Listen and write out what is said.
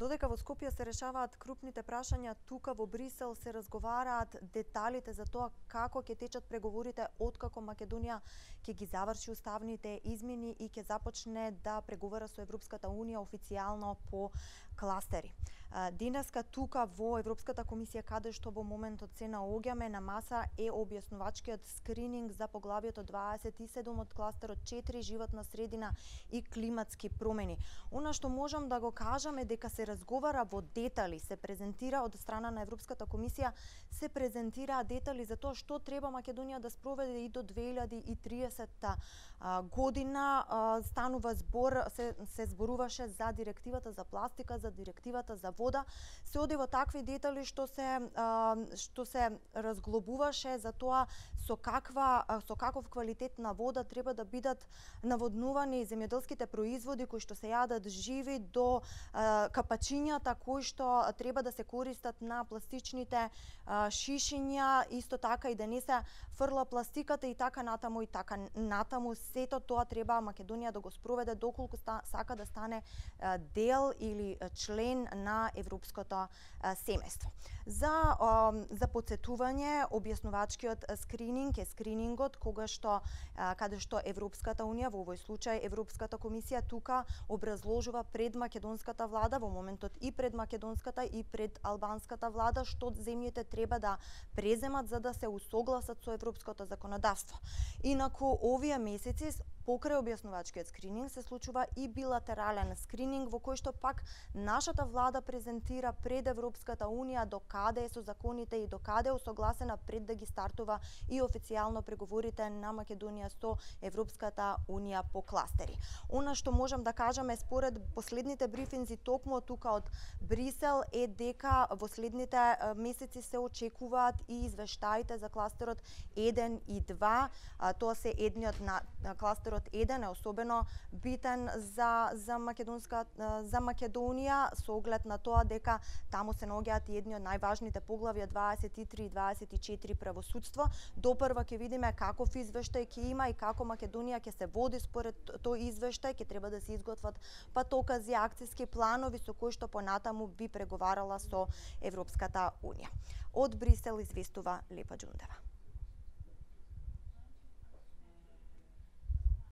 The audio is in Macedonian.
Додека во Скопје се решаваат крупните прашања, тука во Брисел се разговараат деталите за тоа како ќе течат преговорите откако Македонија ќе ги заврши уставните измени и ќе започне да преговара со Европската Унија официјално по кластери. Денеска тука во Европската комисија, каде што во моментот се наоѓаме на маса, е објаснувачкиот скрининг за поглавието 27 од кластерот 4 животна средина и климатски промени. Она што можам да го кажам е дека се разговара во детали, се презентира од страна на Европската комисија, се презентира детали за тоа што треба Македонија да спроведе и до 2030 година. Станува збор, се зборуваше за директивата за пластика, за директивата за вода. Се оди во такви детали што се разглобуваше за тоа со каков квалитет на вода треба да бидат наводнувани земјоделските производи кои што се јадат живи, до капачињата кои што треба да се користат на пластичните шишиња, исто така и да не се фрла пластиката и така натаму. Сето тоа треба Македонија да го спроведе доколку сака да стане дел или член на европското семејство. За потсетување, објаснувачкиот скрининг е скринингот каде што Европската Унија, во овој случај Европската комисија, тука образложува пред македонската влада, во моментот и пред македонската и пред албанската влада, што земјите треба да преземат за да се усогласат со европското законодавство. Инаку овие месеци покрај објаснувачкиот скрининг се случува и билатерален скрининг во кој што пак нашата влада презентира пред Европската Унија докаде е со законите и докаде е усогласена пред да ги стартува и официјално преговорите на Македонија со Европската Унија по кластери. Она што можам да кажам е според последните брифинзи токму тука од Брисел е дека во следните месеци се очекуваат и извештаите за кластерот 1 и 2. Тоа се едниот на кластерот 1 е особено битен за Македонија со оглед на тоа дека таму се наоѓаат и едни од најважните поглавја 23 и 24 правосудство. Допрва ќе видиме каков извештај ќе има и како Македонија ќе се води според тој извештај. Ќе треба да се изготват патокази, акциски планови со кои што понатаму би преговарала со Европската Унија. Од Брисел известува Лепа Џундева.